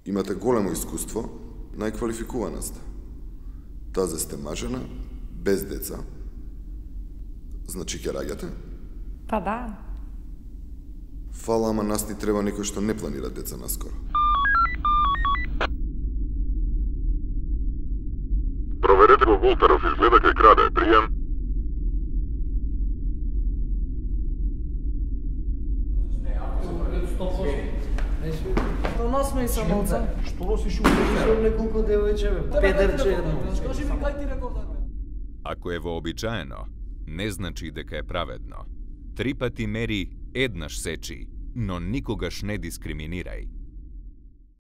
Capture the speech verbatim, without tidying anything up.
Имате големо искуство, најквалификувана сте. Тазе сте мажена, без деца. Значи ќе раѓате? Па да. Фала, ама нас ни треба некој што не планира деца наскоро. Проверете го Волтеров, изгледа кај краде. Пријем. До нас ме и самоца. Што носиш уште неколку девојче, педерче едно. Скажи ми кај ти реков да. Ако е вообичаено, не значи дека е праведно. Три пати мери, еднаш сечи, но никогаш не дискриминирај.